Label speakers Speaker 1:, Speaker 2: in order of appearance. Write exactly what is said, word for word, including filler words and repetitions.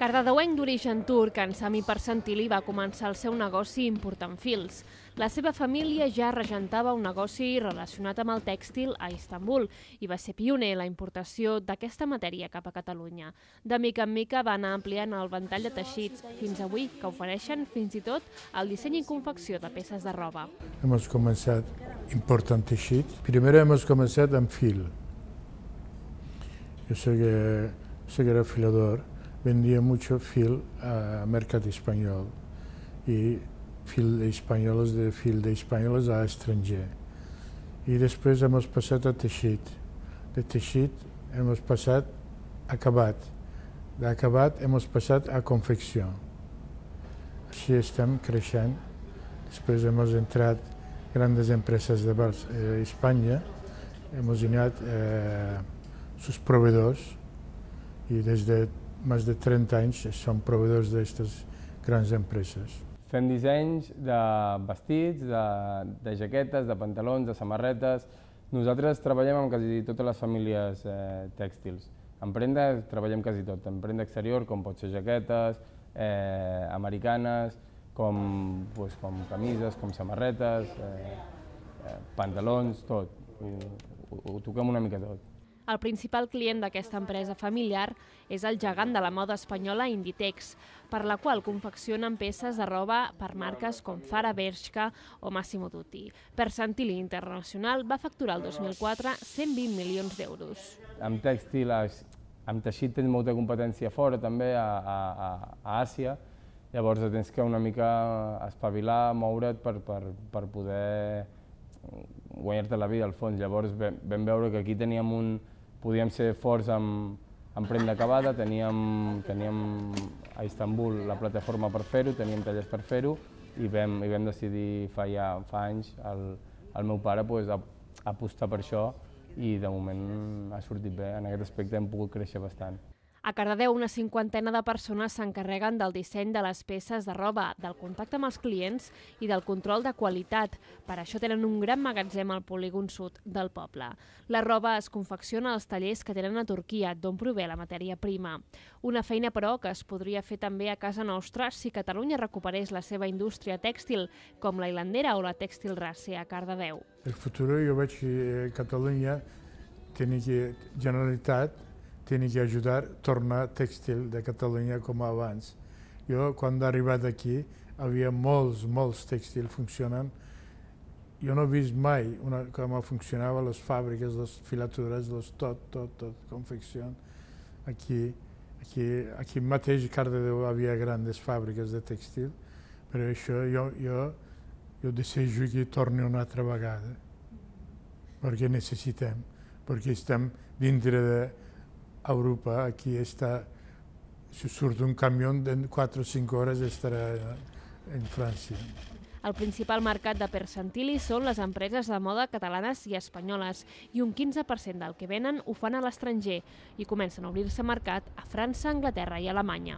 Speaker 1: Cardedeuenc d'origen turc, en Sami Persantili va començar el seu negoci important fils. La seva família ja regentava un negoci relacionat amb el tèxtil a Istanbul i va ser pioner en la importació d'aquesta matèria cap a Catalunya. De mica en mica va anar ampliant el ventall de teixits, fins avui que ofereixen fins i tot el disseny i confecció de peces de roba.
Speaker 2: Hemos comenzado important teixit. Primero hemos comenzado en fil. Yo soy, soy afilador. Vendía mucho fil a mercado español y fil españoles de fil de españoles a estranger. Y después hemos pasado a teixit. De teixit hemos pasado a acabat. De acabat hemos pasado a confecció. Així estem creixent. Després hemos entrat grandes empresas de eh, España. Hemos anat eh, sus proveedors i des de més de trenta anys som proveïdors d'aquestes grans empreses.
Speaker 3: Fem dissenys de vestits, de, de jaquetes, de pantalons, de samarretes. Nosaltres treballem amb quasi totes les famílies eh, tèxtils. En prenda treballem quasi tot, en prenda exterior, com pot ser jaquetes, eh, americanes, com, pues, com camises, com samarretes, eh, eh, pantalons, tot. Ho, ho, ho toquem una mica tot.
Speaker 1: El principal client d'aquesta empresa familiar és el gegant de la moda espanyola Inditex, per la qual confeccionen peces de roba per marques com Zara, Bershka o Massimo Dutti. Persantili Internacional va facturar el dos mil quatre cent vint milions d'euros.
Speaker 3: Amb tèxtil, amb teixit tens molta competència fora, també a, a, a Àsia. Llavors tens que una mica espavilar, moure't per, per, per poder guanyar-te la vida al fons. Llavors vam veure que aquí teníem un... podíem ser forts en, en prenda acabada, teníem, teníem a Istanbul la plataforma per fer-ho, teníem tallers per fer-ho i vam, i vam decidir fa, ja, fa anys el, el meu pare pues, a, apostar per això i de moment ha sortit bé. En aquest aspecte hem pogut créixer bastant.
Speaker 1: A Cardedeu, una cinquantena de persones s'encarreguen del disseny de les peces de roba, del contacte amb els clients i del control de qualitat. Per això tenen un gran magatzem al polígon sud del poble. La roba es confecciona als tallers que tenen a Turquia, d'on prové la matèria prima. Una feina, però, que es podria fer també a casa nostra si Catalunya recuperés la seva indústria tèxtil, com la hilandera o la tèxtil race a Cardedeu.
Speaker 2: El futur jo veig que Catalunya tiene que, Generalitat, tiene que ajudar a tornar tèxtil de Catalunya com abans. Jo, quan he arribat aquí, havia molts, molts tèxtils funcionant. Jo no he vist mai una, com funcionaven les fàbriques, les filatures, les tot, tot, tot, confecció. Aquí, aquí, aquí mateix a Cardedeu havia grandes fàbriques de tèxtil, però això jo, jo, jo desejo que torni una altra vegada, perquè necessitem, perquè estem dintre de Europa, aquí està, si surt un camió en quatre o cinc hores estarà en França.
Speaker 1: El principal mercat de Persantili són les empreses de moda catalanes i espanyoles i un quinze per cent del que venen ho fan a l'estranger i comencen a obrir-se mercat a França, Anglaterra i Alemanya.